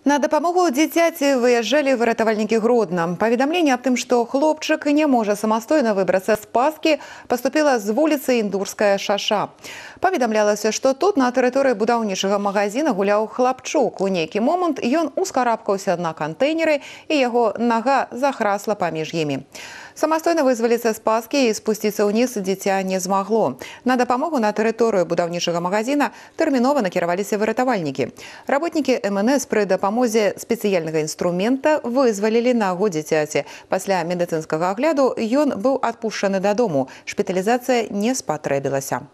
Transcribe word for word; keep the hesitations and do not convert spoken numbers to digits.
На дапамогу дзіцяці выязджалі выратавальнікі Гродна. Паведамленне аб тым, што хлопчык не можа самастойна выбрацца з паскі, паступіла з вуліцы Індурская шаша. Паведамлялася, што тут на тэрыторыі будаўнічага магазина гуляў хлапчук. У нейкі момант ён ускарабкаўся на кантэйнеры і яго нага захрасла паміж імі. Самастойна вызваліцца з паскі і спусціцца ўніз дзіця не змагло. На дапамогу на тэрыторыю будаўнічага магазина тэрмінова накіраваліся выратавальнікі. Работнікі эм эн эс пры дапамозе спецыяльнага інструмента вызвалілі нагу дзіцяці. Пасля медыцынскага агляду ён быў адпушчаны дадому. Шпіталізацыя не спатрэбілася.